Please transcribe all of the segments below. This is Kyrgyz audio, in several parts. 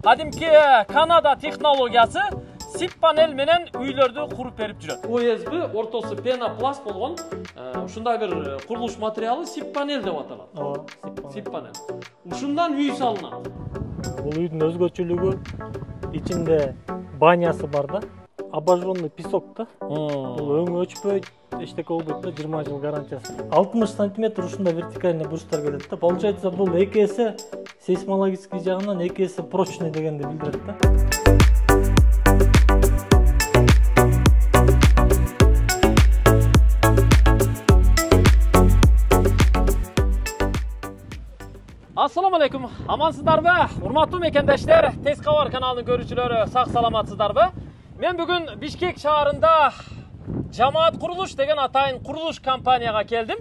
кадимки Канада технологиясы сип панель менен үйлөрдү куруп берип жүрөт. ОСБ ортосу пенопласт болгон ушундай бир курулуш материалы сип панель деп аталат. Сип панель. Ушундан үй салынат. Бул үйдүн өзгөчөлүгү ичинде банясы бар да. Обожженный песок да. Бул өңү өчпөйт, эчтеке болбойт да, 20 жыл гарантиясы. 60 сантиметр ушундай вертикальный бурчтар келет да. Получается, бул 2 эсе сейсмологический жагынан 2 эсе прочный дегенди билдирет да. Ассаламу алейкум. Амансыздарбы? Урматтуу мекендештер, Тез кабар каналынын көрүүчүлөрү, сак саламатсыздарбы? Мен бүгүн Бишкек шаарында Жамаат курулуш деген атайын курулуш компанияга келдим.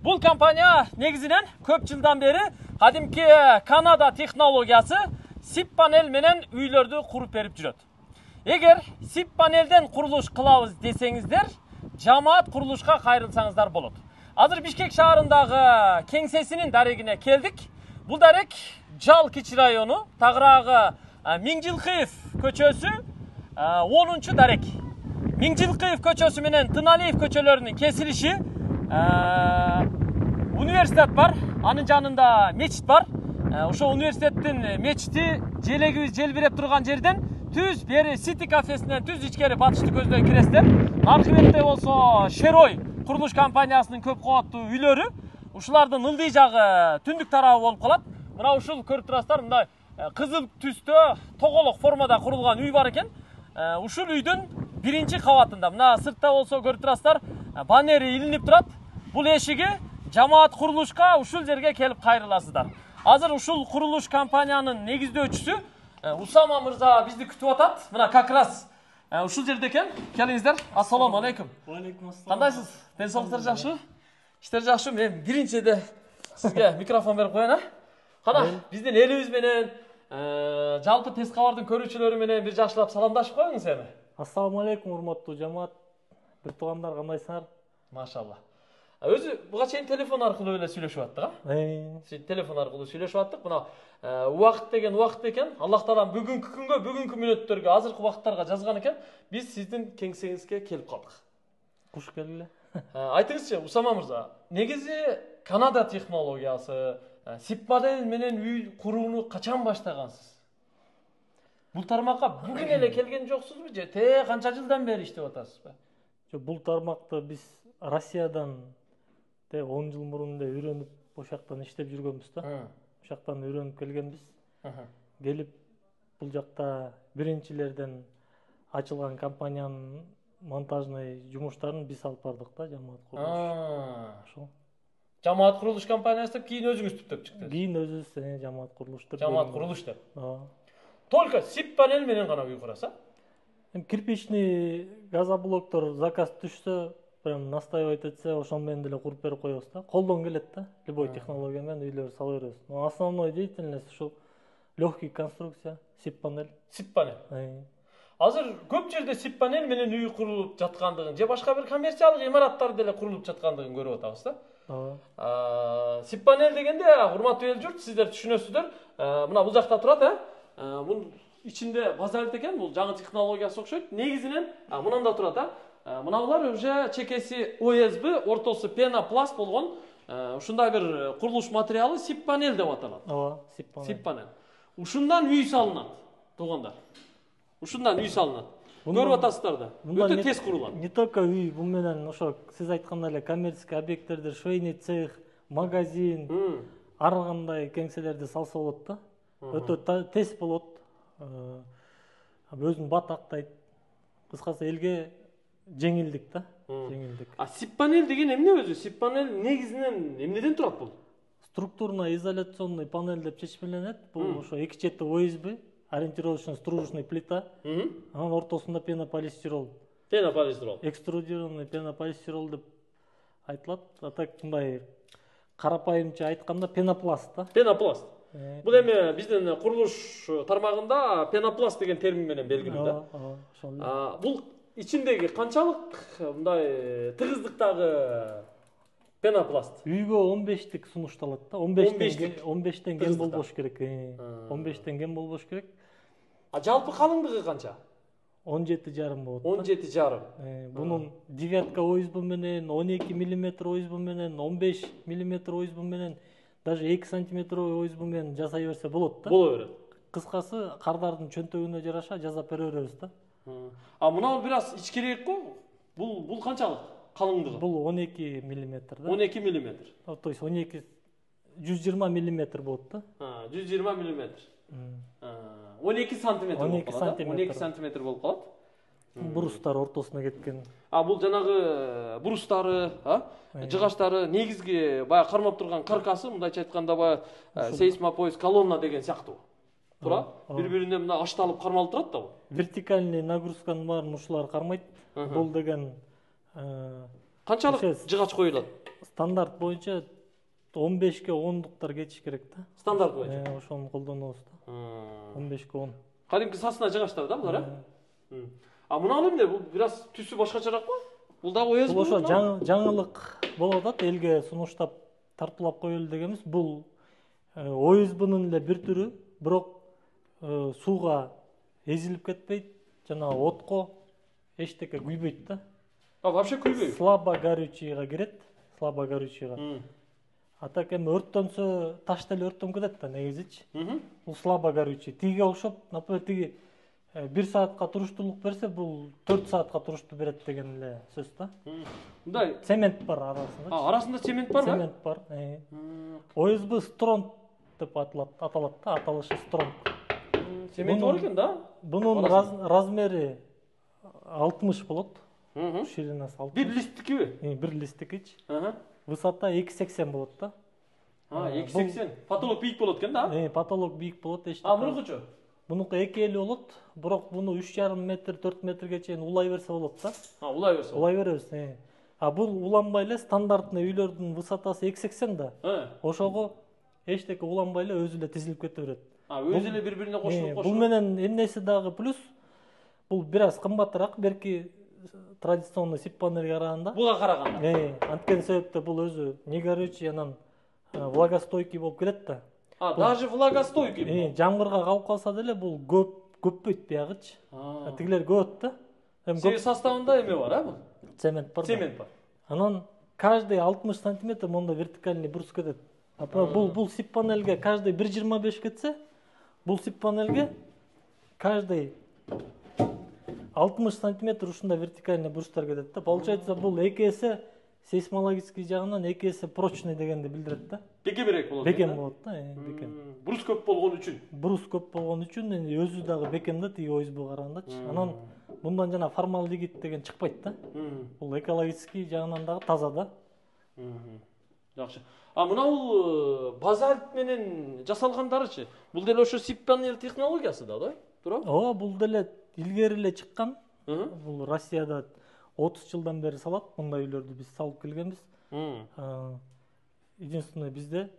Бул компания негизинен көп жылдан бери кадимки Канада технологиясы сип панель менен үйлөрдү куруп берип жүрөт. Эгер сип панелден курулуш кылабыз десеңиздер, Жамаат курулушка кайрылсаңыздар болот. Азыр Бишкек шаарындагы кеңсесинин дарегине келдик. Бул дарек Жал Кичи району, тагыраагы Миңжилкыев көчөсү 10-чу дарек. Миңжилкыев көчөсү менен Тыналиев көчөлөрүнүн кесилиши университет бар, анын жанында мечит бар. Ошо университеттин мечити желегибиз желбиреп турган жерден түз бери Сити кафесинен түз ичкери батышты көздөй киресиздер. Наркы бетте болсо Шерой курулуш компаниясынын көп кабаттуу үйлөрү. Ушулардын ылдый жагы түндүк тарабы болуп калат. Мына ушул көрүп турасыздар, мындай кызыл түстө тоголок формада курулган үй бар экен. Ушул үйдүн биринчи кабатында, мына сыртта болсо көрүп турасыздар, баннери илинип турат. Бул эшиги Жамаат курулушка ушул жерге келип кайрыласыздар. Азыр ушул курулуш компаниянын негиздөөчүсү Усама мырза бизди күтүп атат. Мына как раз ушул жерде экен. Келиңиздер. Ассаламу алейкум. Алейкум ассалам. Кандайсыз? Ден соолуктар жакшыбы? Иштер жакшыбы? Мен биринчиде сизге микрофон берип коеюн, Кана, биздин элибиз менен, жалпы Тез кабардын көрүүчүлөрү менен бир жакшылап саламдашып коюңуз эми. Ассаламу алейкум, урматтуу жамаат. Бир туугандар, кандайсыңар? Машалла. Өзү буга чейин телефон аркылуу эле сүйлөшүп аттык, Телефон аркылуу сүйлөшүп аттык. Мына убакыт деген убакыт экен. Аллах таалам бүгүнкү күнгө, бүгүнкү мүнөттөргө, азыркы убакыттарга жазган экен. Биз сиздин кеңсеңизге келип калдык. Куш келди. Айтыңызчы, Усама мырза, негизи Канада технологиясы сип панель менен үй курууну качан баштагансыз? Бул тармакка бүгүн эле келген жоксузбу же канча жылдан бери иштеп атасызбы? Жок, бул тармакты биз Россиядан 10 жыл мурун үйрөнүп, ошактан иштеп жүргөнбүз да. Ошактан үйрөнүп келгенбиз. Келип бул жакта биринчилерден ачылган компаниянын монтажный жумуштарын биз алып бардык да, Жамаат курулуш. Ошол. Жамаат курулуш компаниясы деп кийин өзүңүз түптөп чыктыңыз. Кийин өзүбүз Жамаат курулуш деп. Жамаат курулуш деп. Только сип панель менен гана үй курасыз? Кирпичный газоблоктор заказ түшсө, прям настаивать этсе, ошол менен деле куруп берип коебуз да. Колдон келет да, любой технология менен үйлөр сала беребиз. Но основной деятельность ушул легкий конструкция, сип панель. Сип панель. Азыр көп жерде сип панель менен үй курулуп жаткандыгын, же башка бир коммерциялык имараттар деле курулуп жаткандыгын көрүп атабыз да. Сип панель дегенде, урматтуу эл журт, сиздер түшүнөсүздөр. Мына бул жакта турат, Бул ичинде базалет экен, бул жаңы технологиясы окшойт. Негизинен мынанда турат, Мына булар уже чекеси ОСБ, ортосу пенопласт болгон ушундай бир курулуш материалы сип панель деп аталат. Сип панель. Ушундан үй салынат, туугандар. Ушундан үй салынат. Көрүп атасыздар да. Өтө тез курулат. Не только үй, бул менен ошо сиз айткандай эле коммерческий объекттерде швейный цех, магазин, ар кандай кеңселерди салса болот да. Өтө тез болот. Өзүн батактайт. Кыскасы элге жеңилдик да. Жеңилдик. Сип панель деген эмне өзү? Сип панель негизинен эмнеден турат бул? Структурно-изоляционный панель деп чечмеленет. Бул ошо эки чети ОСБ, ориентировочно стружечный плита, анын ортосунда пенополистирол. Экструдированный пенополистирол деп айтылат. А так мындай карапайымча айтканда пенопласт да. Пенопласт. Бул эми биздин курулуш тармагында пенопласт деген термин менен белгилүү да. Бул ичиндеги канчалык мындай тыгыздыктагы пенопласт? Үйгө 15тик сунушталат да. 15тен кем болбош керек. 15тен кем болбош керек. А жалпы калыңдыгы канча? 17,5 болот. 17,5. Бунун девятка ойузбу менен, 12 мм ойузбу менен, 15 мм ойузбу менен, даже 2 см ойузбу менен жасай берсе болот да. Боло берет. Кыскасы кардардын чөнтөгүнө жараша жасап бере беребиз да. А мына бир аз ичкерээк го. Бул канчалык калыңдыгы? Бул 12 мм да. 12 мм. То есть 120 мм болот да. 120 мм. 12 сантиметр болуп калат. 12 сантиметр болуп калат. Брустар ортосуна кеткен. А бул жанагы брустары, жыгачтары негизги баягы кармап турган каркасы, мындайча айтканда баягы сейсмопояс колонна деген сыяктуу. Туура? Бири-бирине мына ашталып кармалып турат да бул. Вертикальный нагрузканын баарын ушулар кармайт. Бул деген канчалык жыгач коюлат? Стандарт боюнча 15ке 10-дуктар кетиш керек да. Стандарт боюнча. Ошону колдонобуз да. 15ке 10. Кадимки сасына жыгачтар да булар, А мына эмне? Бул бир аз түсү башкачараакпы? Бул дагы ойыз бул ошо жаңылык болуп атат, элге сунуштап тартуулап коелу дегенбиз. Бул ойузбунун эле бир түрү, бирок сууга эзилип кетпейт, жана отко эчтеке күйбөйт да. Вообще күйбөйт. Слабо горючийга кирет, слабо горючийга. А так эми өрттөнсө таш деле өрттөнүп кетет да негизичи. Бул слабо горючий. Тиге окшоп, например, тиги 1 саатка туруштуулук берсе, бул 4 саатка туруштуу берет деген эле сөз да. Мындай цемент бар арасында. Арасында цемент барбы? Цемент бар. Ойузбу стронг деп аталат да, аталышы стронг. Цемент бар экен да? Бунун размери 60 болот. Ширинасы 60. Бир листтикиби? Бир листтикичи. Высота 2,80 болот да. 2,80. Потолок бийик болот экен да? Потолок бийик болот. Мунукучу? Мунуку 2,50 болот, бирок муну 3,5 метр, 4 метрге чейин улай берсе болот да. Улай берсе. Улай беребиз. А бул уланбай эле стандартный үйлөрдүн высотасы 2,80 да. Ошого эчтеке уланбай эле өзү эле тизилип кете берет. Өзү эле бири-бирине кошулуп. Бул менен эмнеси дагы плюс, бул бир аз кымбатыраак берки традиционный сип панельге караганда. Буга караганда. Анткени себептен бул өзү не горючий, анан влагостойкий болуп келет да. Даже влагостойкий. Жамгырга калып калса деле бул көппөйт биягычы. Тигилер көбөт да. Себеби составында эме бар, бул? Цемент бар. Цемент бар. Анан каждый 60 сантиметр монда вертикальный брус кетет. Бул сип панельге каждый 1,25 кетсе, бул сип панельге каждый 60 сантиметр ушундай вертикальный брустар кетет да. Получается, бул 2 эсе сейсмологический жагынан 2 эсе прочный дегенди билдирет да. Бекемирээк болот. Бекем болот да, бекем. Брус көп болгон үчүн. Брус көп болгон үчүн өзү дагы бекем да, тиги ойузбу карагандачы. Анан мындан жана формалдегид деген чыкпайт да. Бул экологический жагынан дагы таза да. Жакшы. А мына бул базальт менен жасалгандарычы? Бул деле ошо сип панель технологиясы да, туурабы? Ооба, бул деле илгери эле чыккан. Бул Россияда 30 жылдан бери салат, мындай үйлөрдү биз салып келгенбиз. Единственное, бизде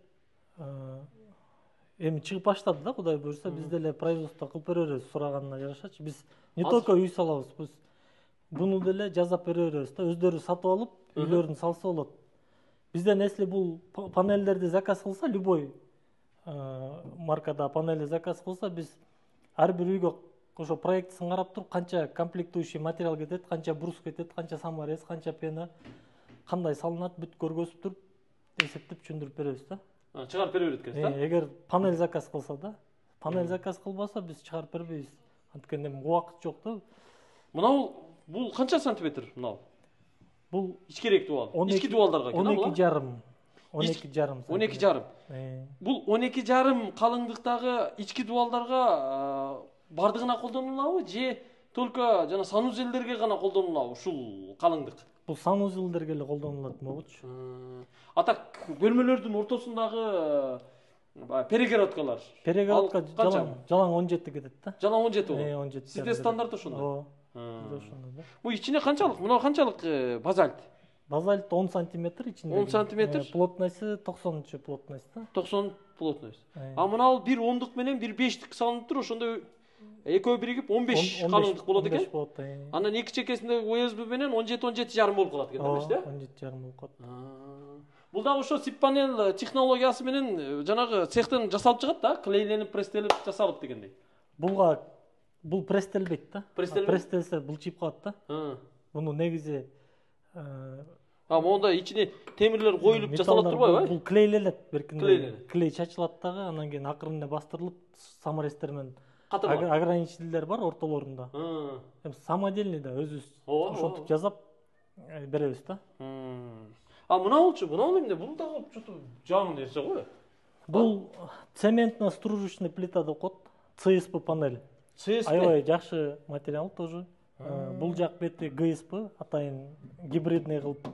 эми чыгып баштады да, Кудай буйрса, биз деле производство кылып бере беребиз сураганына жараша. Биз не только үй салабыз, биз буну деле жасап бере беребиз да, өздөрү сатып алып, үйлөрүн салса болот. Бизден если бул панелдерди заказ кылса, любой маркада панели заказ кылса, биз ар бир үйгө ошо проектисин карап туруп, канча комплектующий материал кетет, канча брус кетет, канча саморез, канча пена, кандай салынат, бүт көргөзүп туруп, эсептеп түшүндүрүп беребиз да. Чыгарып бере берет экенсиз да? Эгер панель заказ кылса да. Панель заказ кылбаса, биз чыгарып бербейбиз. Анткени убакыт жок да. Мына бул канча сантиметр мына? Бул ичкерээк дубал. Ички дубалдарга экен, 12,5. 12,5. 12,5. Бул 12,5 калыңдыктагы ички дубалдарга бардыгына колдонулабы же только жана санузелдерге гана колдонулабы ушул калыңдык? Бул санузелдерге эле колдонулат могучу. А так бөлмөлөрдүн ортосундагы перегородкалар. Перегородка жалаң 17 кетет да. Жалаң 17 болот. 17. Сизде стандарт ошондой. Ооба. Ошондой да. Бул ичине канчалык? Мына канчалык базальт? Базальт 10 сантиметр ичинде. 10 сантиметр. Плотности 90 плотность да. 90 плотность. А мына бир 10дук менен бир 5дик салынып тур, ошондо экөө биригип 15 калыңдык болот экен. Анан эки чекесинде ойузбу менен 17-17,5 болуп калат экен, демекчи да? 17,5 болуп калат. Бул дагы ошо сип панель технологиясы менен жанагы цехтен жасалып чыгат да, клейленип, пресстелип, жасалып дегендей. Булга бул пресстелбейт да. Пресстелсе булчуп калат да. Муну негизи монда ичине темирлер коюлуп жасалат турбайбы? Бул клейлелет беркинде. Клей чачылат дагы, анан кийин акырында бастырылып саморезтер менен ограничительдер бар ортолорунда. Самодельный да өзүбүз ошентип жасап беребиз да. Мына болчу, эмне? Бул дагы что-то жаңы нерсе го. Бул цементно-стружечный плита деп коет. CSP панель. Аябай жакшы материал тоже. Бул жак бети GSP, атайын гибридный кылып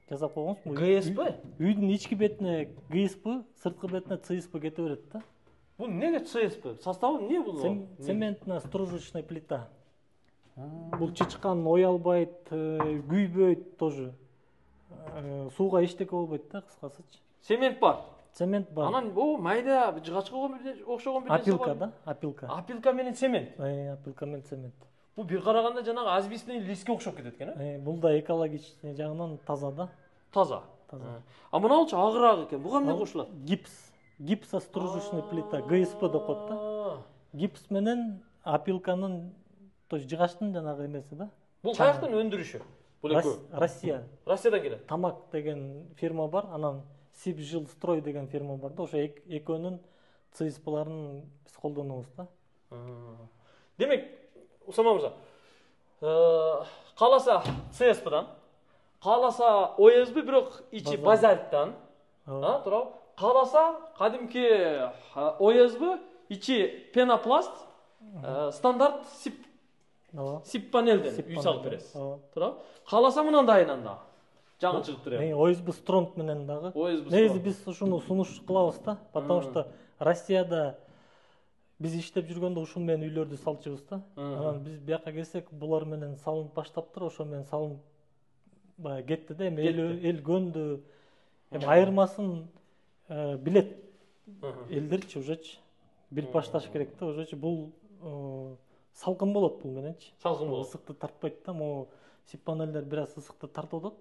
жасап койгонбуз. GSP? Үйдүн ички бетине GSP, сырткы бетине CSP кете берет да. Бул неге CSP? Составы эмне бул? Цементно-стружечный плита. Бул чычкан ой албайт, күйбөйт тоже. Сууга эчтеке болбойт да, кыскасычы. Цемент бар. Цемент бар. Анан майда жыгачка окшогон бир нерсе бар. Апилка да, апилка. Апилка менен цемент. Апилка менен цемент. Бул бир караганда жанагы асбестный листке окшоп кетет экен, Бул да экологичный жагынан таза да. Таза. Мына болчу агыраак экен. Буга эмне кошулат? Гипс. Гипсостружечный плита, GSP деп коет да. Гипс менен апилканын, то есть жыгачтын жанагы эмеси да. Бул каяктан өндүрүшү? Бул экөө. Россия. Россиядан келет. Тамак деген фирма бар, анан Сибжилстрой деген фирма бар да, ошо экөөнүн CSP-ларын биз колдонобуз да. Демек, Усама мырза, кааласа CSP-дан, кааласа OSB, бирок ичи базальттан, туурабы? Кааласа кадимки OSB, ичи пенопласт, стандарт сип панелден үй салып бересиз. Туурабы? Кааласа мынандайынан да жаңы чыгып туруп. OSB Strong менен дагы. Негизи биз ушуну сунуш кылабыз да, потому что Россияда биз иштеп жүргөндө ушун менен үйлөрдү салчубуз да. Анан биз бияка келсек, булар менен салынып баштаптыр, ошо менен салынып баягы кетти да. Эми эл көндү. Эми айырмасын билет элдерчи ужечи. Бир башташ керек да, ужечи бул салкын болот бул мененчи. Салкын болот. Ысыкты тартпайт да, могу сип панелдер бир аз ысыкты тартып атат.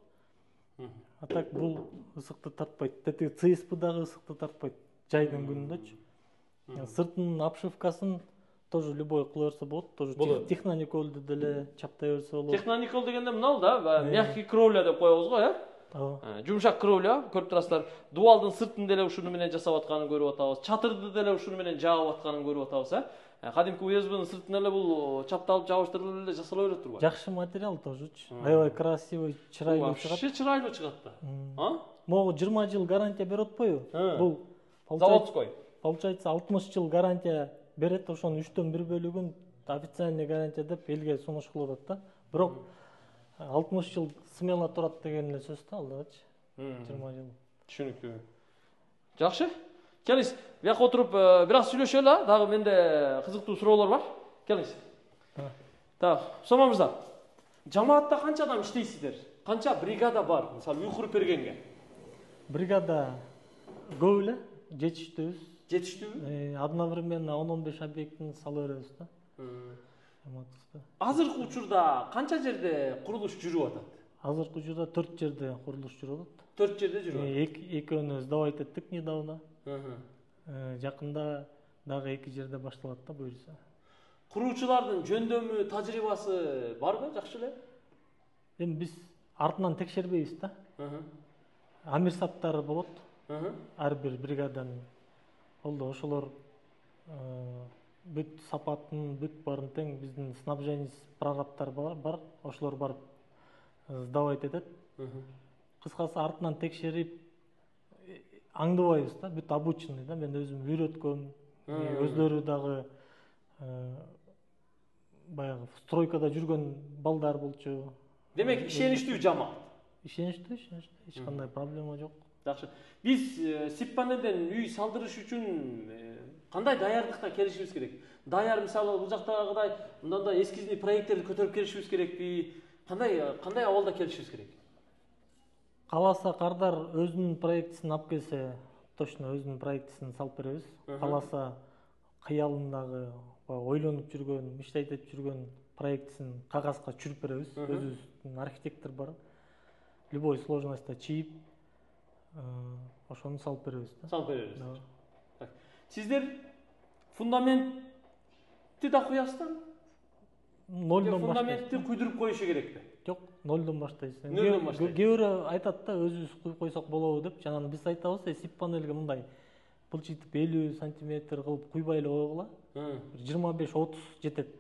А так бул ысыкты тартпайт. Тети CSP дагы ысыкты тартпайт жайдын күнүндөчү. Сыртынын обшивкасын тоже любой кыла берсе болот, тоже технониколду деле чаптай берсе болот. Техноникол дегенде мынау да, мягкий кровля деп коебуз го, Жумшак кровля, көрүп турасыздар. Дубалдын сыртын деле ушуну менен жасап атканын көрүп атабыз. Чатырды деле ушуну менен жаап атканын көрүп атабыз, Кадимки USB-нын сыртын эле бул чапталып жабыштырылып эле жасала берет турбайбы? Жакшы материал тоже. Аябай красивый, чырайлуу чыгат. Вообще чырайлуу чыгат да. Могу 20 жыл гарантия берип атпайбы? Бул заводской. Получается 60 жыл гарантия берет, ошонун 3төн 1 бөлүгүн официальный гарантия деп элге сунуш кылып атат да. Бирок 60 жыл смело турат деген эле сөз да алдагычы. 20 жыл. Түшүнүктүү. Жакшы. Келиңиз, бияка отуруп бир аз сүйлөшөлү, дагы менде кызыктуу суроолор бар. Келиңиз. Так, Усама мырза. Жамаатта канча адам иштейсиздер? Канча бригада бар? Мисалы, Уйкур Пергенге. Бригада көп эле, жетиштүүбүз. Жетиштүүбү? Одновременно 10-15 объектини сала беребиз да. Азыркы учурда канча жерде курулуш жүрүп атат? Азыркы учурда 4 жерде курулуш жүрүп атат. 4 жерде жүрүп атат. Экөөнү сдавать эттик недавно. Жакында дагы 2 жерде башталат да буюрса. Куруучулардын жөндөмү, тажрыйбасы барбы, жакшы эле? Эми биз артынан текшербейбиз да. Амирсаттары болот. Ар бир бригаданын. Ошолор бүт сапатын, бүт барын тең биздин снабжение прорабтар бар. Ошолор барып сдавать этет. Кыскасы артынан текшерип аңдыбайбыз да, бүт обученный да, мен өзүм үйрөткөм, өздөрү дагы баягы стройкада жүргөн балдар болчу. Демек, ишеничтүү жамаат. Ишеничтүү, эч кандай проблема жок. Жакшы. Биз сип панелден үй салдырыш үчүн кандай даярдыкка келишибиз керек? Даяр, мисалы, бул жактагыдай мындай эскизный проекттерди көтөрүп келишибиз керекпи? Кандай абалда келишибиз керек? Кааласа кардар өзүнүн проектисин алып келсе, точно өзүнүн проектисин салып беребиз. Кааласа кыялындагы, ойлонуп жүргөн, иштетип жүргөн проектисин кагазга түшүрүп беребиз. Өзүбүздүн архитектор бар. Любой сложностьта чийип, ошону салып беребиз да. Салып беребиз. Сиздер фундаментти да куясыздар, нолдон баштайсың. Фундаментти куйдуруп коюшу керекпи? Жок, нолдон баштайсың. Нолдон баштайсың. Кээ бирөө айтат да, өзүбүз куюп койсок болобу деп. Жана биз айтабыз, сип панелге мындай былчыйтып 50 сантиметр кылып куйбай эле койгула. 25-30 жетет.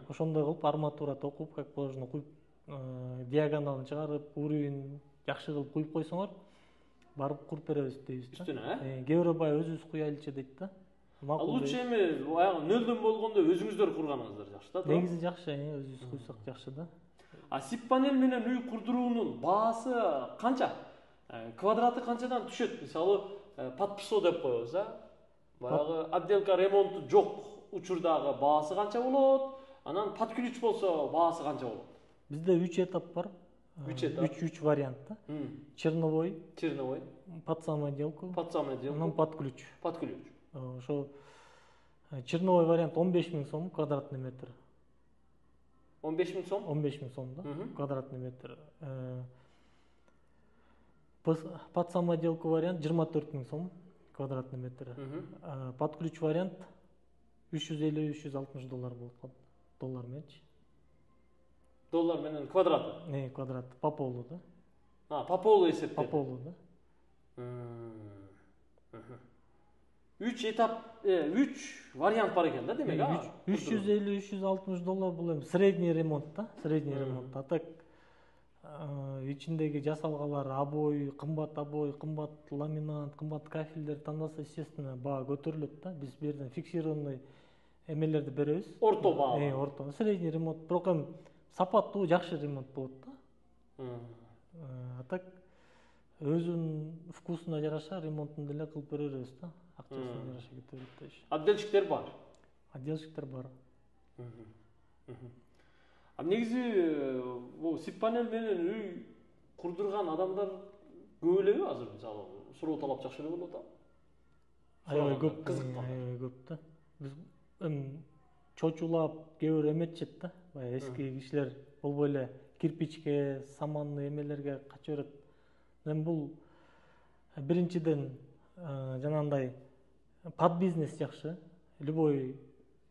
Ошондой кылып арматура токуп, как положено куюп, диагоналын чыгарып, уровень жакшы кылып куюп койсоңор, барып куруп беребиз дейбиз да. Үстүнө, Кээ бирөө баягы өзүбүз куялычы дейт да. Лучше эми баягы нөлдөн болгондо өзүңүздөр курганыңыздар жакшы да, туура? Негизи жакшы, өзүбүз куйсак жакшы да. Сип панель менен үй курдуруунун баасы канча? Квадраты канчадан түшөт? Мисалы, подписо деп коебуз, баягы отделка ремонту жок учурдагы баасы канча болот? Анан под ключ болсо баасы канча болот? Бизде 3 этап бар. 3 этап. 3 вариант да. Черновой, под самоделку, анан под ключ. Под ключ. Ошо черновой вариант 15 000 сом квадратный метр. 15 000 сом? 15 000 сом да, квадратный метр. Под самоделку вариант 24 000 сом квадратный метр. Под ключ вариант 350-360 доллар болот. Доллар менчи. Доллар менен квадраты? Квадрат, по полу да. По полу эсептелет. По полу да. 3 этап, 3 вариант бар экен да, демек, 350-360 доллар бул эми средний ремонт да, средний ремонт. А так ичиндеги жасалгалар, обой, кымбат ламинат, кымбат кафелдер тандаса, естественно, баа көтөрүлөт да. Биз бу жерден фиксированный эмелерди беребиз. Орто баа. Орто. Средний ремонт, бирок эми сапаттуу, жакшы ремонт болот да. А так өзүнүн вкусуна жараша ремонтун деле кылып беребиз да. Акчасына жараша кете берет да. Отделщиктер бар. Отделщиктер бар. Негизи бул сип панель менен үй курдурган адамдар көп элеби азыр, мисалы, суроо талап жакшы эле болуп атат? Аябай көп, аябай көп да. Биз эми чочулап кээ бирөө эметчет да. Баягы эски кишилер болбой эле кирпичке, саманный эмелерге кача берет. Эми бул биринчиден жанагындай под бизнес жакшы. Любой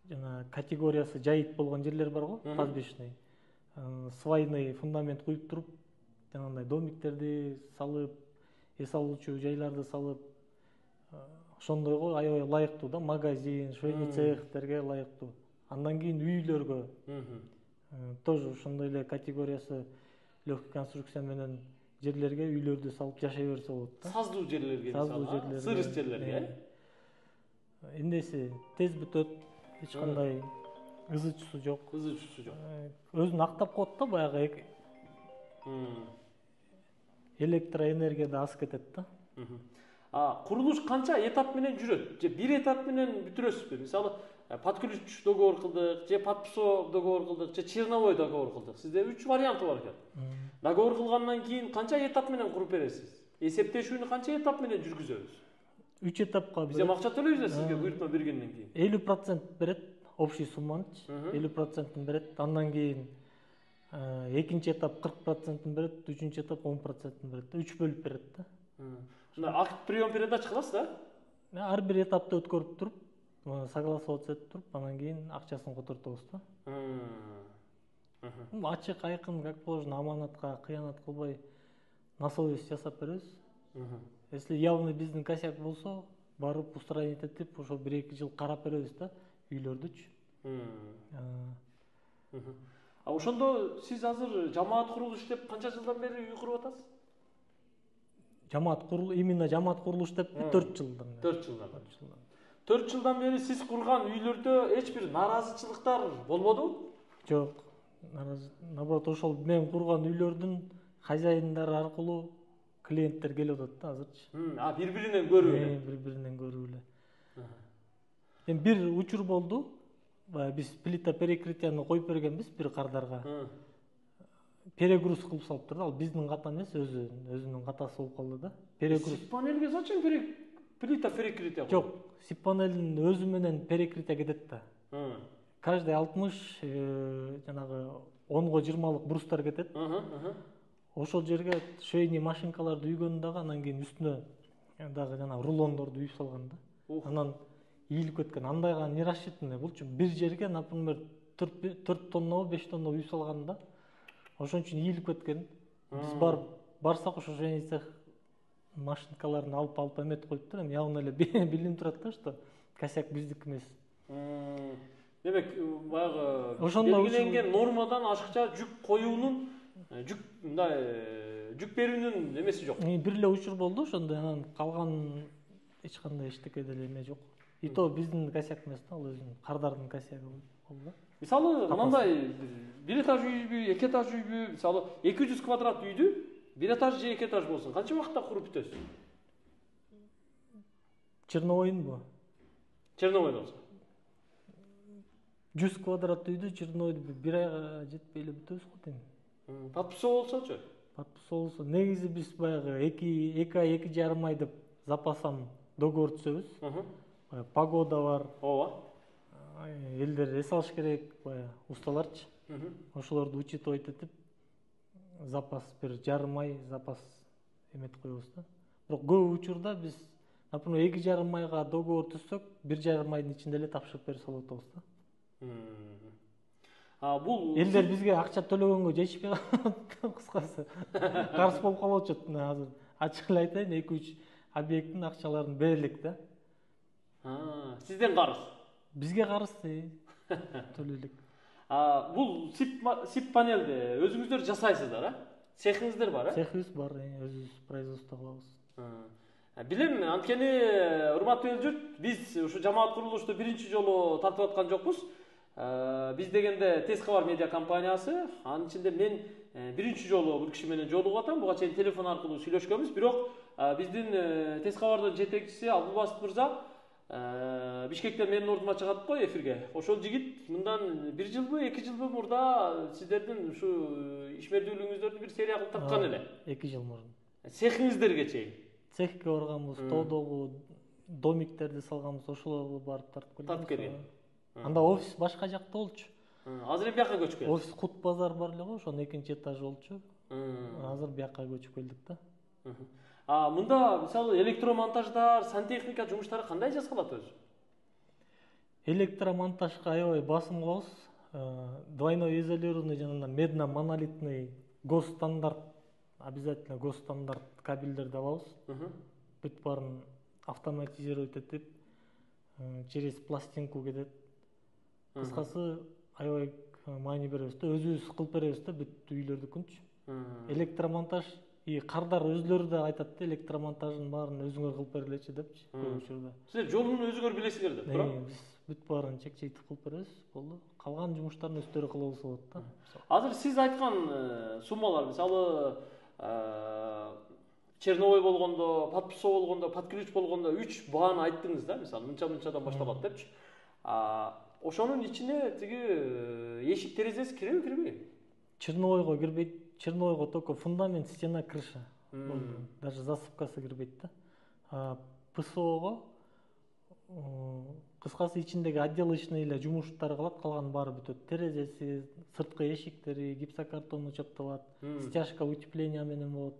жана категориясы жайыт болгон жерлер бар го, пастбищный. Свайный фундамент куюп туруп, жанагындай домиктерди салып, эс алуучу жайларды салып, ошондойго аябай ылайыктуу да, магазин, швейный цехтерге ылайыктуу. Андан кийин үйлөргө тоже ошондой эле категориясы легкий конструкция менен жерлерге үйлөрдү салып жашай берсе болот да. Саздуу жерлерге, мисалы, сырыс жерлерге. Эмнеси тез бүтөт, эч кандай ызычусу жок. Өзүн актап коет да, баягы электроэнергия да аз кетет да. Курулуш канча этап менен жүрөт? Же бир этап менен бүтүрөсүзбү? Мисалы, под ключ договор кылдык, же подписо договор кылдык, же черновой договор кылдык. Сизде 3 варианты бар экен. Договор кылгандан кийин канча этап менен куруп бересиз? Эсептешүүнү канча этап менен жүргүзөбүз? 3 этапка биз акча төлөйбүз да сизге буйртма бергенден кийин. 50% берет, общий сумманычы. 50% берет. Андан кийин экинчи этап 40% берет, үчүнчү этап 10% берет. 3 бөлүп берет да. Акт прием передача кыласыз да? Ар бир этапты өткөрүп туруп, согласоваться этип туруп, андан кийин акчасын котортобуз да. Ачык, айкын, как положено, аманатка кыянат кылбай на совесть жасап беребиз. Если явный биздин косяк болсо, барып устранить этип, ошо 1-2 жыл карап беребиз да, үйлөрдүчү. Ошондо сиз азыр жамаат курулуш деп канча жылдан бери үй куруп атасыз? Именно жамаат курулуш деп 4 жылдан. 4 жылдан бери сиз курган үйлөрдө эч бир нааразычылыктар болбодубу? Жок. Наоборот, ошол мен курган үйлөрдүн хозяиндары аркылуу клиенттер келип атат да азырчы. Бири-биринен көрүп эле. Бири-биринен көрүп эле. Эми бир учур болду. Биз плита перекрытияны коюп бергенбиз бир кардарга. Перегруз кылып салып турду. Ал биздин ката эмес, өзүнүн катасы болуп калды да. Перегруз. Сип панелге зачем плита перекрытия? Жок, сип панелдин өзү менен перекрытия кетет да. Каждый 60 жанагы 10го 20лык брустар кетет. Ошол жерге швейный машинкаларды үйгөн дагы, анан кийин үстүнө дагы жана рулондорду үйүп салган да. Анан ийилип кеткен. Андайга не рассчитанный. Булчу бир жерге, например, 4 тоннабы 5 тонна үй салган да. Ошон үчүн ийилип кеткен. Биз барсак ошо швейный цех машинкаларын алып эметип коюптур. Эми явно эле билинип турат да, что косяк биздики эмес. Демек, баягы белгиленген нормадан ашыкча жүк коюунун, жүк берүүнүн эмеси жок. Бир эле учур болду ошондо, анан калган эч кандай эчтеке деле эме жок. И то биздин косяк эмес да, ал өзүнүн кардардын косягы болду. Мисалы, мындай бир этаж үйбү, 2 этаж үйбү, мисалы 200 квадрат үйдү 1 этаж же 2 этаж болсун, канча убакытта куруп бүтөсүз? Черновойдунбу? Черновойдо болсо 100 квадрат үйдү Черновойду 1 айга жетпей эле бүтөбүз го дейм. Подписоо болсочу? Подписоо болсо негизи биз баягы 2 ай 2,5 ай деп запасам договор түзөбүз. Погода бар. Ооба. Элдер эс алыш керек, баягы усталарчы. Ошолорду учитывать этип запас 1,5 ай запас эметип коебуз да. Бирок көп учурда биз, например, 2,5 айга договор түзсөк, 1,5 айдын ичинде эле тапшырып берип салып атабыз да. Бул элдер бизге акча төлөгөнгө жетишпей кыскасы. Карыз болуп калып атат. Азыр ачык эле айтайын, 2-3 объекттин акчаларын берелик да. Сизден карыз? Бизге карыз төлөйлүк. Бул сип панелди өзүңүздөр жасайсыздар, Цехиңиздер бар, Цехибиз бар, өзүбүз производство кылабыз. Билем, анткени урматтуу эл журт, биз ушу жамаат курулушту биринчи жолу тартып аткан жокпуз. Биз дегенде Тез кабар медиа компаниясы, анын ичинде мен биринчи жолу бул киши менен жолугуп атам. Буга чейин телефон аркылуу сүйлөшкөнбүз, бирок биздин Тез кабардын жетекчиси Абдулбасит мырза Бишкектен менин ордума чыгат го эфирге. Ошол жигит мындан 1 жылбы, 2 жылбы мурда сиздердин ушу ишмердүүлүгүңүздөрдү бир серия кылып тарткан эле. 2 жыл мурун. Цехиңиздерге чейин. Цехке барганбыз, тоодогу домиктерди салганбыз, ошолорду барып тартып келген. Анда офис башка жакта болчу. Азыр эми бияка көчүп келдик. Офис Кут базар бар эле го, ошонун 2-этажы болчу. Азыр бияка көчүп келдик да. Мында мисалы электромонтаждар, сантехника жумуштары кандай жасалат өзү? Электромонтажга аябай басым кылабыз. Двойной изолированный жана медно-монолитный госстандарт, обязательно госстандарт кабелдерди алабыз. Бүт баарын автоматизировать этип, через пластинку кетет. Кыскасы аябай маани беребиз да, өзүбүз кылып беребиз да бүт үйлөрдүкүнчү. Электромонтаж кардар өзлөрү да айтат да, электромонтажын баарын өзүңөр кылып бергилечи депчи көп учурда. Силер жолун өзүңөр билесиңер деп, туура? Биз бүт баарын чек-чейтип кылып беребиз, болду. Калган жумуштарын өздөрү кыла болсо болот да. Азыр сиз айткан суммалар, мисалы черновой болгондо, подписоо болгондо, под ключ болгондо 3 бааны айттыңыз да, мисалы мынчадан башталат депчи. Ошонун ичине тиги эшик терезеси киреби, кирбейби? Черновойго кирбейт. Черновойго только фундамент, стена, крыша. Даже засыпкасы кирбейт да. ПСОго кыскасы ичиндеги отделочный эле жумуштар кылат, калган баары бүтөт. Терезеси, сырткы эшиктери, гипсокартону чапталат, стяжка утепления менен болот.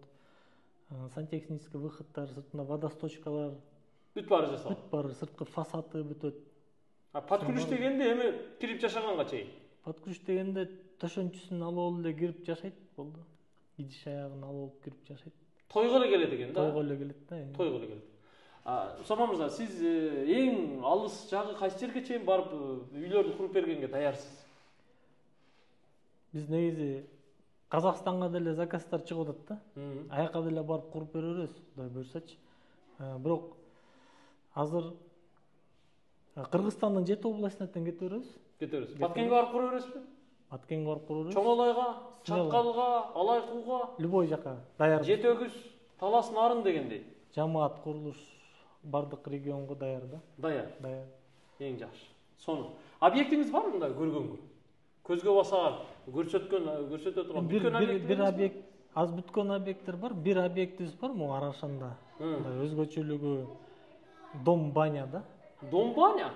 Сантехнический выходтар, сыртында водосточкалар. Бүт баары жасалат. Бүт баары, сырткы фасады бүтөт. Под ключ дегенде эми кирип жашаганга чейин. Под ключ дегенде төшөнчүсүн алып эле кирип жашайт, болду. Идиш аягын алып кирип жашайт. Тойго эле келет экен да. Тойго эле келет да. Тойго эле келет. Усама мырза, сиз эң алыс жагы кайсы жерге чейин барып үйлөрдү куруп бергенге даярсыз? Биз негизи Казакстанга деле заказдар чыгып атат да. Аяка деле барып куруп бере беребиз, Кудай буйрсачы. Бирок азыр Кыргызстандын 7 областынан кете беребиз. Баткенге барып кура бересизби? Баткенге барып кура беребиз. Чоңолайга, Чакалга, Алайкууга, любой жака даяр. Жети өгүз, Талас Нарын дегендей. Жамаат курулуш бардык регионго даяр да. Даяр. Даяр. Эң жакшы. Сонун. Объектиңиз бар мында көргөнгө? Көзгө басар, көрсөтө турган бүткөн объект. Бир объект, аз бүткөн объекттер бар. Бир объектибиз бар, могу Арашанда. Өзгөчөлүгү дом баня да. Дом баня?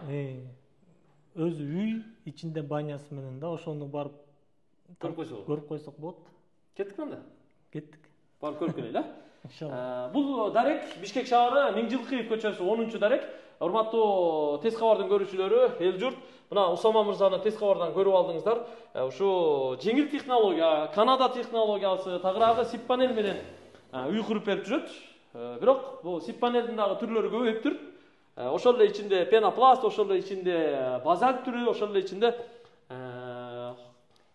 Өзү үй, ичинде банясы менен да, ошону барып көрүп койсок болот. Кеттик анда? Кеттик. Барып көрүп келели, Иншалла. Бул дарек Бишкек шаары Миңжилкыев көчөсү 10-чу дарек. Урматтуу Тез кабардын көрүүчүлөрү, эл журт, Мына Усама мырзаны тез кабардан көрүп алдыңыздар. Ушу жеңил технология, Канада технологиясы, тагыраагы сип панель менен үй куруп берип жүрөт. Бирок бул сип панелдин дагы түрлөрү көбөйүптүр. Ошол эле ичинде пенопласт, ошол эле ичинде базальт түрү, ошол эле ичинде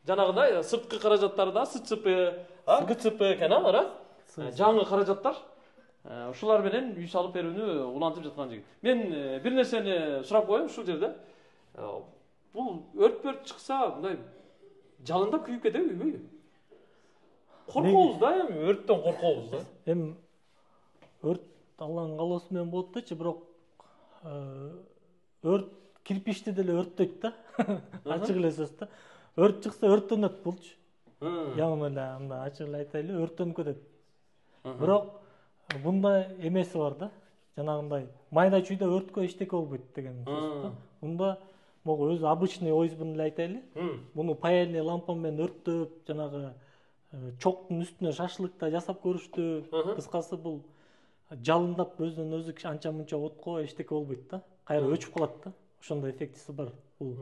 жанагындай сырткы каражаттары да СЦП, ГЦП экен алар, жаңы каражаттар. Ушулар менен үй салып берүүнү улантып жаткан жигит. Мен бир нерсени сурап коеюн ушул жерде. Бул өрт чыкса, мындай жалындап күйүп кетеби үйбөйбү? Коркобуз да, эми өрттөн коркобуз да. Эми өрт Алланын каалоосу менен болот дечи, бирок өрт кирпичти деле өрттөйт да. Ачык эле сөз да. Өрт чыкса өрттөнөт булчу. Яңы эле анда ачык эле айтайлы, өрттөнүп кетет. Бирок бунда эмеси бар да. Жанагындай майда чүйдө өрткө эчтеке болбойт деген сөз да. Бунда могу өзү обычный ойзбун эле айтайлы. Муну паяльный лампа менен өрттөп, жанагы чоктун үстүнө шашлык да жасап көрүштү. Кыскасы бул жалындап өзүнөн өзү анча мынча отко эчтеке болбойт да. Кайра өчүп калат да. Ошондой эффектиси бар. Бул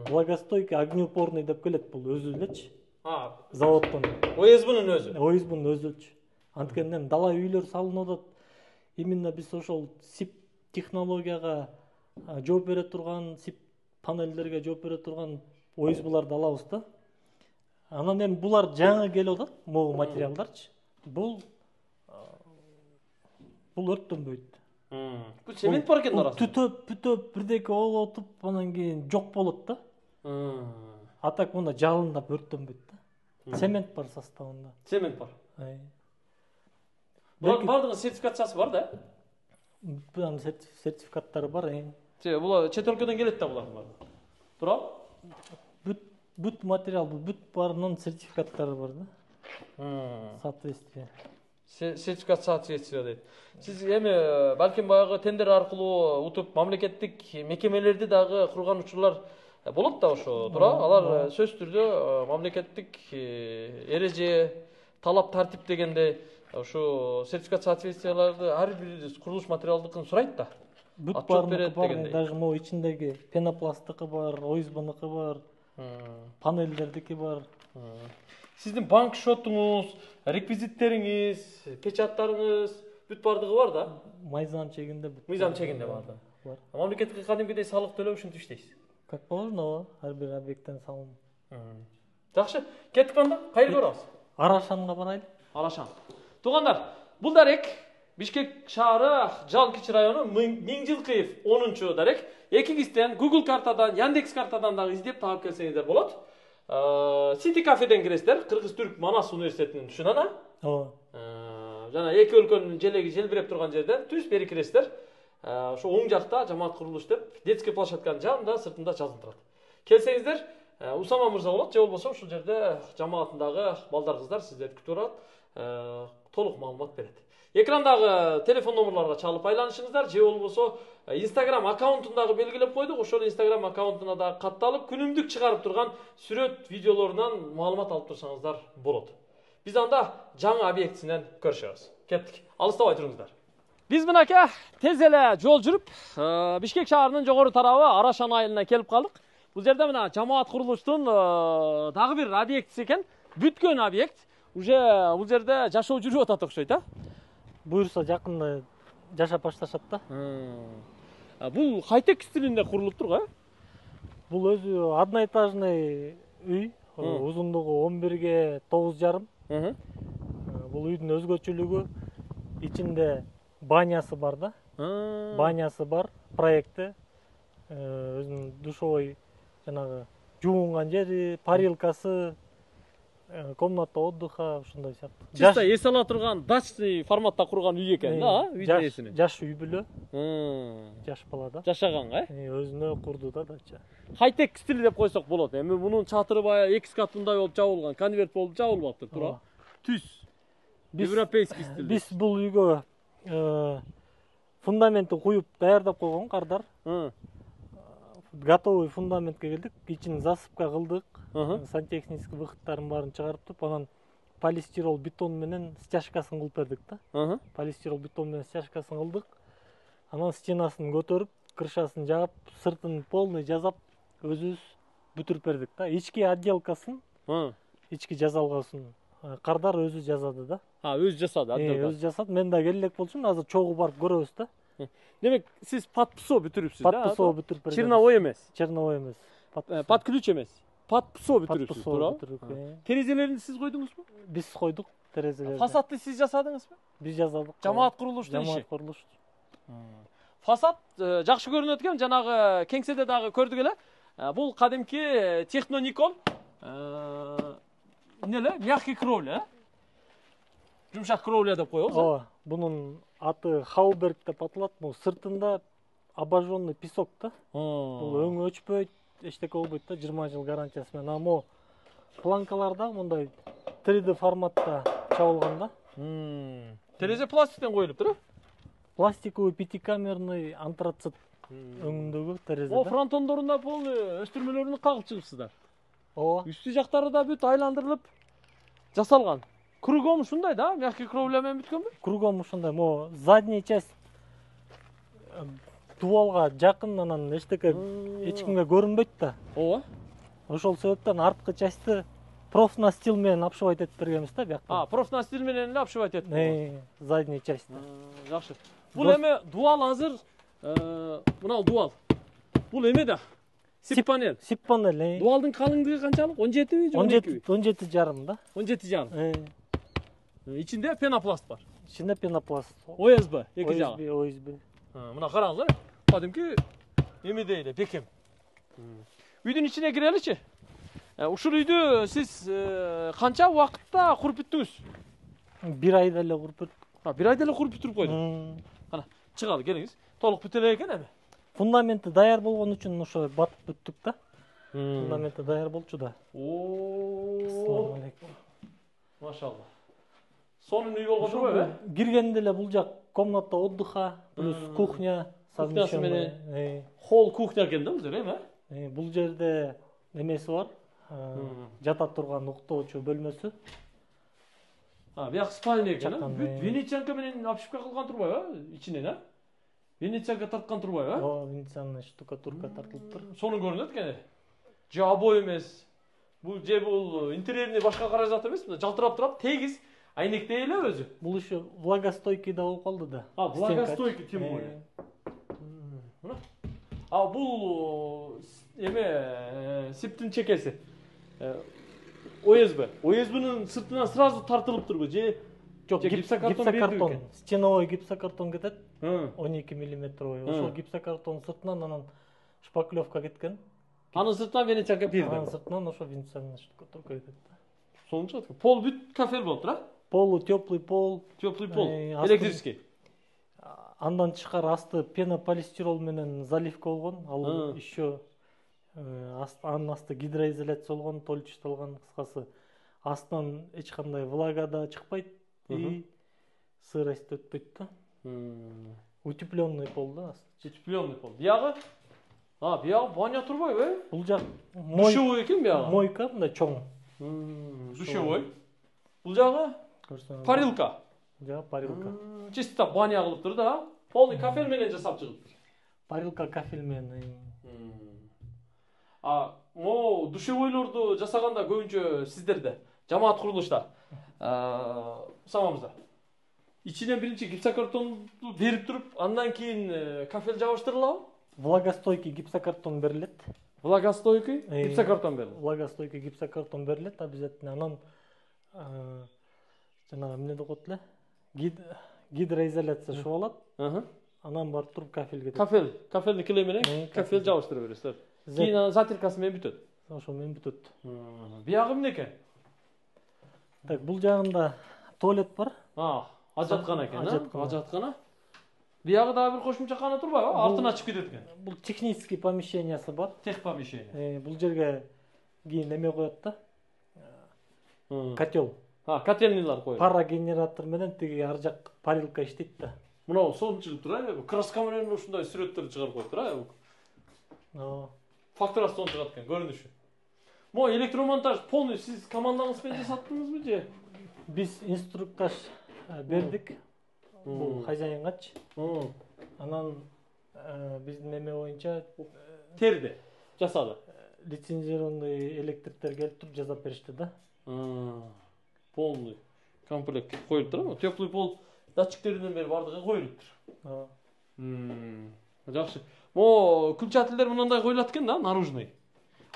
влагостойкий, огнеупорный деп келет бул өзү элечи. Заводдон. ОСБнын өзү. ОСБнын өзүчү. Анткени дала үйлөр салынып атат. Именно биз ошол сип технологияга жооп бере турган, сип панелдерге жооп бере турган ОСБларды алабыз да. Анан эми булар жаңы келип атат, могу материалдарчы. Бул өрттөнбөйт. Бул цемент бар экен арасында. Бүтөп бирдеке болуп отуп, анан кийин жок болот да. А так мында жалындап өрттөнбөйт да. Цемент бар составында. Цемент бар. Бардыгы сертификациясы бар да? Бул сертификаттары бар. Бул чет өлкөдөн келет да булардын баары. Туура? Бүт материал, бүт баарынын сертификаттары бар да. Соответствие. Сертификат соответствие дейт. Сиз эми балким баягы тендер аркылуу утуп мамлекеттик мекемелерди дагы курган учурлар болот да ошо, туура? Алар сөзсүз түрдө мамлекеттик эреже, талап тартип дегенде ошо сертификат соответствияларды ар бир курулуш материалдыкын сурайт да. Бүт баарыныкы бар, даже могу ичиндеги пенопласттыкы бар, ОСБныкы бар, панелдердики бар. Сиздин банк счетуңуз, реквизиттериңиз, печаттарыңыз бүт бардыгы бар да? Мыйзам чегинде бүт. Мыйзам чегинде бар. Мамлекетке кадимкидей салык төлөп ушинтип иштейсиз. Как положено, ар бир объекттен салым. Жакшы, кеттик анда. Кайра барабыз? Арашанга барайлы. Арашан. Туугандар, бул дарек Бишкек шаары Жал Кичи району Миңжилкыев 10-чу дарек. Экиңизден Google картадан, Яндекс картадан дагы издеп таап келсеңиздер болот. City кафеден киресиздер, Кыргыз-Түрк Манас университетинин түшүнөн. Жана эки өлкөнүн желеги желбиреп турган жерден түз бери киресиздер. Ошо оң жакта жамаат курулуш деп детский площадканын жанында сыртында жазылып турат. Келсеңиздер, Усама мырза болот, же болбосо ушул жерде жамаатындагы балдар кыздар сиздерди күтүп турат. Толук маалымат берет. Экрандагы телефон номерларга чалып айланышыңыздар, же болбосо Instagram аккаунтун дагы белгилеп койдук. Ошол Instagram аккаунтуна дагы катталып, күнүмдүк чыгарып турган сүрөт, видеолорунан маалымат алып турсаңыздар болот. Биз анда жаңы объектисинен көрүшөбүз. Кеттик. Алыстабай туруңуздар. Биз мынакей тез эле жол жүрүп, Бишкек шаарынын жогору тарабы Арашан айылына келип калдык. Бул жерде мына жамаат курулуштун дагы бир объектиси экен. Бүткөн объект. Уже бул жерде жашоо жүрүп атат окшойт, Буюрса жакында жашап башташат да. Бул хай-тек стилинде курулуп тургу, Бул өзү одноэтажный үй, узундугу 11ге 9,5. Бул үйдүн өзгөчөлүгү ичинде банясы бар да. Банясы бар, проекти. Өзүнүн душевой жанагы жуунган жери, парилкасы, комната отдыха, ушундай сыяктуу. Чисто эс ала турган дачный форматта курган үй экен да, үйдүн эсине. Жаш үй бүлө. Жаш бала да. Жашаганга, өзүнө курду да дача. Хай-тек стили деп койсок болот. Эми мунун чатыры баягы 2 катындай болуп жабылган, конверт болуп жабылбаптыр, туура? Түз. Европейский стиль. Биз бул үйгө фундаментти куюп даярдап койгон кардар. Готовый фундаментке келдик, ичин засыпка кылдык, сантехнический выходтарын баарын чыгарып, анан полистирол бетон менен стяжкасын кылып бердик да. Полистирол бетон менен стяжкасын кылдык. Анан стенасын көтөрүп, крышасын жаап, сыртын полный жазап, өзүбүз бүтүрүп бердик да. Ички отделкасын, ички жазалгоосун Кардар өзү жазады да. Өзү жасады, отделка. Өзү жасады. Мен да келе элек болчумун, азыр чогуу барып көрөбүз да. Демек, сиз подпсо бүтүрүпсүз да? Подпсо бүтүрүп бердик. Черновой эмес. Черновой эмес. Под ключ эмес. Подпсо бүтүрүпсүз, туурабы? Терезелерин сиз койдуңузбу? Биз койдук терезелерди. Фасадты сиз жасадыңызбы? Биз жасадык. Жамаат курулуштун иши. Жамаат курулуш. Фасад жакшы көрүнөт экен, жанагы кеңседе дагы көрдүк эле. Бул кадимки Техноникол эмне мягкий кровля, жумшак кровля деп коебуз. Ооба, бунун аты Хауберг деп аталат. Бул сыртында обожженный песок да. Бул өңү өчпөйт, эчтеке болбойт да, 20 жыл гарантиясы менен. Amo планкаларда мындай 3D форматта чабылган да. Терезе пластиктен коюлуп тур. Пластиковый пятикамерный антрацит өңүндөгү терезе. О, фронтондорунда полный өстүрмөлөрүн кагып чыгыпсыздар. Ооба. Үстү жактары да бүт айландырылып жасалган. Кругом ушундай да, мягкий кровля менен бүткөнбү? Кругом ушундай. Мо задний часть дубалга жакын, анан эчтеке эч кимге көрүнбөйт да. Ооба. Ошол себептен арткы частьты профнастил менен обшивать этип бергенбиз да бияктан. Профнастил менен эле обшивать этип. Задний частьты. Жакшы. Бул эме дуал азыр, мына дуал. Бул эме да. Сип панель. Сип панель. Дуалдын калыңдыгы канчалык? 17 же 12? 17,5 да. 17,5. Ичинде пенопласт бар. Ичинде пенопласт. ОСБ, эки жагы. ОСБ. Мына караңыздар. Кадимки эмедей эле, бекем. Үйдүн ичине киреличи. Ушул үйдү сиз канча убакытта куруп бүттүңүз? 1 айда эле куруп бүттүк. 1 айда эле куруп бүтүрүп койдук. Кана, чыгалы, келиңиз. Толук бүтө элек экен эми. Фундаменти даяр болгон үчүн ошо батып бүттүк да. Фундаменти даяр болчу да. Ассалам алейкум. Машалла. Сонун үй болгон турбайбы? Киргенде эле бул жак комната отдыха плюс кухня, совмещенный. Холл кухня экен да бул жер эми? Бул жерде немеси бар. Жата турган уктоочу бөлмөсү. Бияк спальня экен, бүт венецианка менен обшивка кылган турбайбы? Ичинен, Венецианка тарткан турбайбы? Ооба, венецианный штукатурка тартылыптыр. Сонун көрүнөт экен. Же обой эмес. Бул интерьерине башка каражат эмес, жалтырап турат, тегиз айнектей эле өзү. Бул еще влагостойкий да болуп калды да. Влагостойкий тем более. Бул эме сиптин чекеси. ОСБ. ОСБнын сыртынан сразу тартылып турбу, же гипсокартон. Стеновой гипсокартон кетет. 12 миллиметровый. Ошол гипсокартон сыртынан анан шпаклевка кеткен. Анын сыртынан венецианка пирди. Анын сыртынан ошо венецианный штукатурка кетет. Сонун чыгат. Пол бүт кафель болуп тур, Полу теплый пол. Теплый пол. Электрический. Андан тышкары асты пенополистирол менен заливка болгон. Ал еще анын асты гидроизоляция болгон, толчталган, кыскасы. Астынан эч кандай влага да чыкпайт и сырость өтпөйт да. Утепленный пол да. Утепленный пол. Биягы? Биягы баня турбайбы? Бул жак душевой экен биягы. Мойка мындай чоң. Душевой. Бул жагы? Парилка. Жагы парилка. Чисто баня кылыптыр да. Полный кафель менен жасап чыгыптыр. Парилка кафель менен. Душевойлорду жасаганда көбүнчө сиздерде жамаат курулушта самамызда. Ичинен биринчи гипсокартонду берип туруп, андан кийин кафель жабыштырылабы? Влагостойкий гипсокартон берилет. Влагостойкий гипсокартон берилет. Влагостойкий гипсокартон берилет обязательно. Анан жана эмне деп коет эле? Гидроизоляция шыбалат. Анан барып туруп кафель кетет. Кафельный клей менен кафель жабыштыра бересиздер. Кийин анын затиркасы менен бүтөт. Ошо менен бүтөт. Биягы эмне экен? Так, бул жагында туалет бар. Ажаткана экен, ажаткана. Биягы дагы бир кошумча кана турбайбы? Артына ачып кетет экен. Бул технический помещениясы бар. Тех помещение. Бул жерге кийин эме коет да. Котел. Котельныйлар коет. Парогенератор менен тиги ар жак парилка иштейт да. Мына сонун чыгып тур, краска менен ушундай сүрөттөрдү чыгарып коюп тур. Фактурасы сонун чыгат экен, көрүнүшү. Электромонтаж полный сиз командаңыз менен жасаттыңызбы же? Биз инструктаж бердик. Бул хозяингачы. Анан биздин эме боюнча терди. жасады. Лицензированный электриктер келип туруп жасап беришти да. Полный комплект коюлуп турабы? Теплый пол датчиктеринен бери бардыгы коюлуптур. Жакшы. Могу күлчатылдар мындай коюлат экен да, наружный.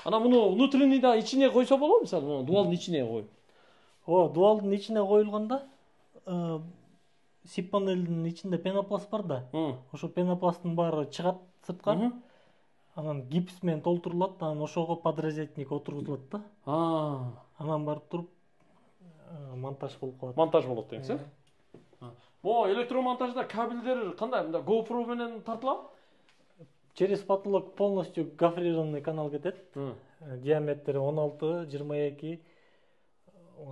Ана муну внутренний да ичине койсо болобу, мисалы, дуалдын ичине коюп. Дуалдын ичине коюлганда сип панелдин ичинде пенопласт бар да. Ошо пенопласттын баары чыгат сыртка. Анан гипс менен толтурулат, анан ошого подрезетник отургузулат да. Анан барып туруп монтаж болуп калат. Монтаж болот деңиз, Могу электромонтажда кабелдер кандай? Мында GoPro менен тартылабы? Через потолок полностью гофрированный канал кетет. Диаметри 16, 22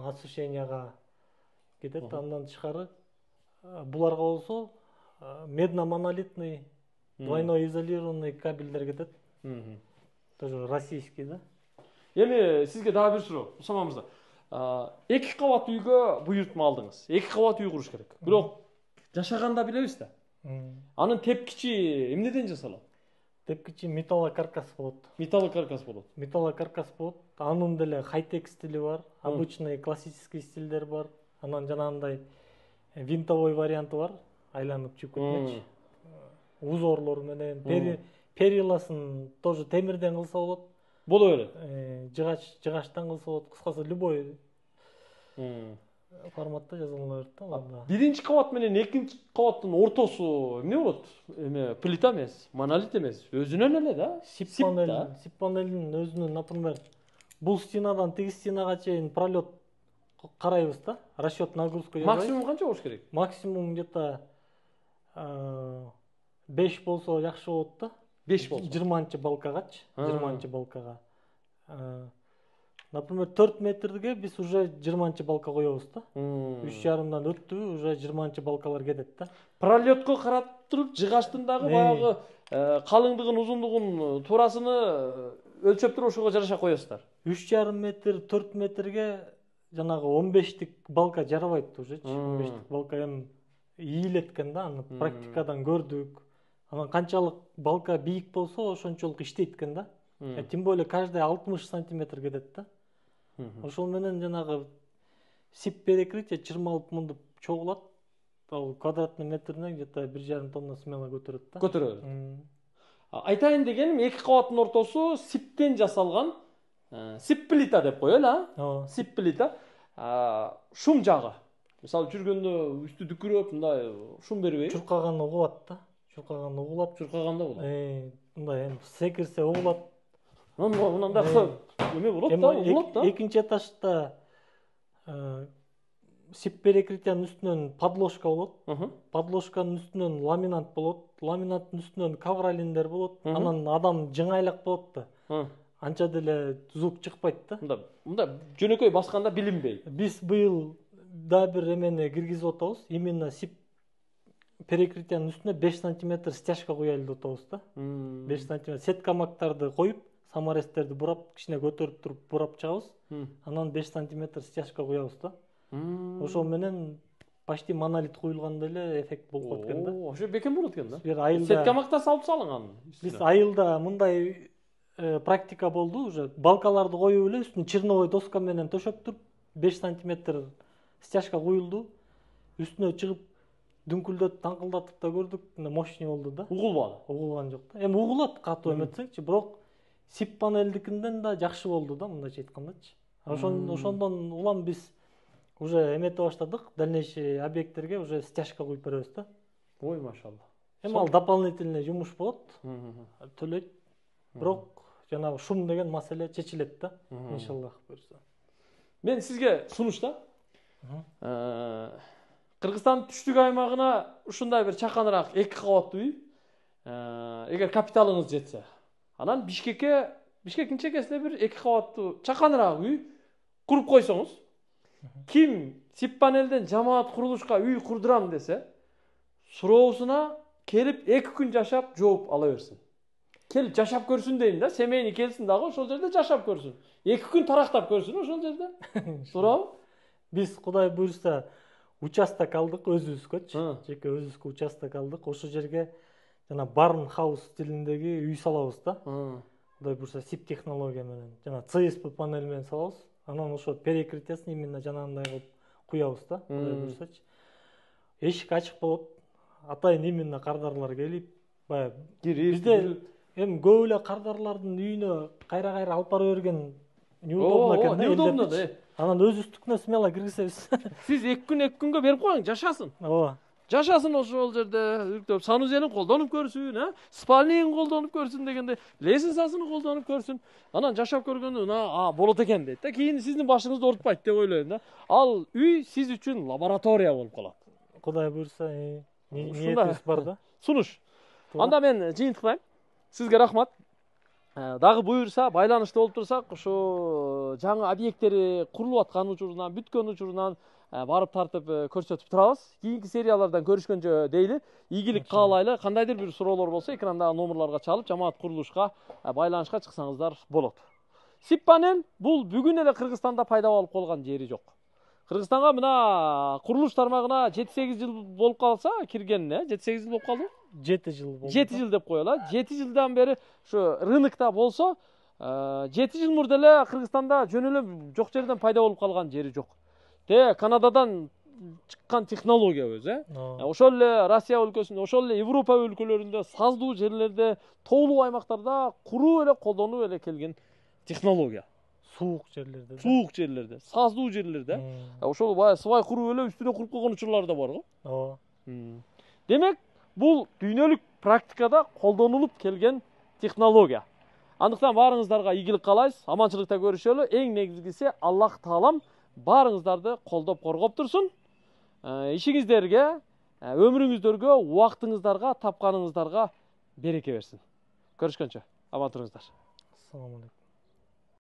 освещенияга кетет. Андан тышкары буларга болсо медно-монолитный двойной изолированный кабелдер кетет. Тоже российский да. Эми сизге дагы бир суроо, Усама мырза. 2 кабат үйгө буйртма алдыңыз. 2 кабат үй куруш керек. Бирок жашаганда билебиз да. Анын тепкичи эмнеден жасалат? Тепкичи металлокаркас болот. Металлокаркас болот. Металлокаркас болот. Анын деле хай-тек стили бар, обычный классический стилдер бар. Анан жанагындай винтовой варианты бар, айланып чыгып кетмекчи. Узорлор менен периласын тоже темирден кылса болот. Боло берет. Жыгачтан кылса болот. Кыскасы любой форматта жазылыла берет да. Биринчи кабат менен экинчи кабаттын ортосу эмне болот? Эме плита эмес, монолит эмес, өзүнөн эле да. Сип панелдин өзүнүн, например, бул стенадан тиги стенага чейин пролет карайбыз да. Расчет нагрузка жасайбыз. Максимум канча болуш керек? Максимум где-то 5 болсо жакшы болот да. 5 болсо. 20 балкагачы, 20 балкага. Например, 4 метрге биз уже 20 балка коебуз да. 3,5дан өттү, уже 20 балкалар кетет да. Пролетко карап туруп, жыгачтын дагы баягы калыңдыгын, узундугун, туурасыны өлчөп туруп ошого жараша коесуздар. 3,5 метр, 4 метрге жанагы 15тик балка жарабайт уже. 15тик балка эми ийилеткен да, аны практикадан көрдүк. Анан канчалык балка бийик болсо, ошончолук иштейт экен да. Тем более каждый 60 сантиметр кетет да. Ошол менен жанагы сип перекрытие чырмалып мындып чогулат. Ал квадратный метрине где-то 1,5 тонна смело көтөрөт да. Көтөрөт. Айтайын дегеним, 2 кабаттын ортосу сиптен жасалган сип плита деп коелу, Сип плита. Шум жагы. Мисалы жүргөндө үстү дүкүрөп, мындай шум бербейби? Чуркаган угулат да. Чуркаган угулап, чуркаганда болот. Мындай эми секирсе угулат. Мындай эме болот да, угулат да. Экинчи этажда сип перекрытиянын үстүнөн подложка болот. Подложканын үстүнөн ламинат болот. Ламинаттын үстүнөн ковролиндер болот. Анан адам жыңайлак болот да. Анча деле звук чыкпайт да. Мында жөнөкөй басканда билинбейт. Биз быйыл да бир эмени киргизип атабыз. Именно сип перекрытиянын үстүнө 5 сантиметр стяжка куялы деп атабыз да. 5 сантиметр сеткамактарды коюп, саморезтерди бурап, кичине көтөрүп туруп бурап чыгабыз. Анан 5 сантиметр стяжка куябыз да. Ошол менен почти монолит куюлгандай эле эффект болуп калат экен да. Ошо бекем болот экен да. Сеткамакта салып салынган. Биз айылда мындай практика болду уже. Балкаларды коюп эле үстүн черновой доска менен төшөп туруп 5 сантиметр стяжка куюлду. Үстүнө чыгып дүңкүлдөт, таңкылдатып да көрдүк. Мощный болду да. Угулбады. Угулган жок да. Эми угулат катуу эметсеңчи, бирок сип панелдикинден да жакшы болду да, мындайча айткандачы. Ошондон улам биз уже эмете баштадык. Дальнейший объекттерге уже стяжка куюп беребиз да. Ой, машалла. Эми ал дополнительный жумуш болот. Төлөйт. Бирок жанагы шум деген маселе чечилет да. Иншаллах буюрса. Мен сизге сунуш да. Кыргызстандын түштүк аймагына ушундай бир чаканыраак 2 кабаттуу үй, эгер капиталыңыз жетсе, анан Бишкектин чекесинде бир 2 кабаттуу чаканыраак үй куруп койсоңуз, ким сип панелден жамаат курулушка үй курдурам десе, суроосуна келип 2 күн жашап жооп ала берсин. Келип жашап көрсүн дейм да, семейни келсин дагы ошол жерде жашап көрсүн. 2 күн тарактап көрсүн ошол жерде. Туурабы? Биз Кудай буйрса участок алдык өзүбүзгөчү. Жеке өзүбүзгө участок алдык. Ошол жерге жана барн хаус стилиндеги үй салабыз да. Кудай буюрса SIP технология менен жана CSP панель менен салабыз. Анан ошо перекрытиясын именно жанагындай кылып куябыз да. Кудай буюрсачы. Эшик ачык болот. Атайын именно кардарлар келип, баягы бизде эми көп эле кардарлардын үйүнө кайра алып бара берген неудобно экен да. Неудобно да. Анан өзүбүздүкүнө смело киргизебиз. Сиз 2 күнгө берип коюң, жашасын. Ооба. Жашасын ошол жерде, үрктөп санузелин колдонуп көрсүн, спальнигин колдонуп көрсүн дегенде, лестницасын колдонуп көрсүн. Анан жашап көргөндөн болот экен дейт да. Кийин сиздин башыңызды оорутпайт деп ойлойм да. Ал үй сиз үчүн лаборатория болуп калат. Кудай буюрса, ниетибиз бар да. Сунуш. Анда мен жыйынтыктайм. Сизге рахмат. Дагы буюрса, байланышта болуп турсак, ошо жаңы объекттери курулуп аткан учурунан, бүткөн учурунан барып тартып көрсөтүп турабыз. Кийинки сериялардан көрүшкөнчө дейли. Ийгилик каалайлы. Кандайдыр бир суроолор болсо, экрандагы номерларга чалып, жамаат курулушка байланышка чыксаңыздар болот. SIP панель бул бүгүн эле Кыргызстанда пайда болуп калган жери жок. Кыргызстанга мына курулуш тармагына 7-8 жыл болуп калса, киргенине 7-8 жыл болуп калды. 7 жыл болду. 7 жыл деп коелу. 7 жылдан бери ушу рынокто болсо, 7 жыл мурда эле Кыргызстанда жөн эле жок жерден пайда болуп калган жери жок. Канададан чыккан технология өзү, ошол эле Россия өлкөсүндө, ошол эле Европа өлкөлөрүндө, саздуу жерлерде, тоолуу аймактарда куруу эле колдонуп эле келген технология. Суук жерлерде. Суук жерлерде, саздуу жерлерде. Ошол баягы свай куруп эле үстүнө куруп койгон учурлар да бар го. Ооба. Демек, бул дүйнөлүк практикада колдонулуп келген технология. Андыктан баарыңыздарга ийгилик каалайбыз, аманчылыкта көрүшөлү. Эң негизгиси Аллах Таалам баарыңыздарды колдоп коргоп турсун. Ишиңиздерге, өмүрүңүздөргө, убактыңыздарга, тапканыңыздарга береке берсин. Көрүшкөнчө, аман туруңуздар. Ассаламу алейкум.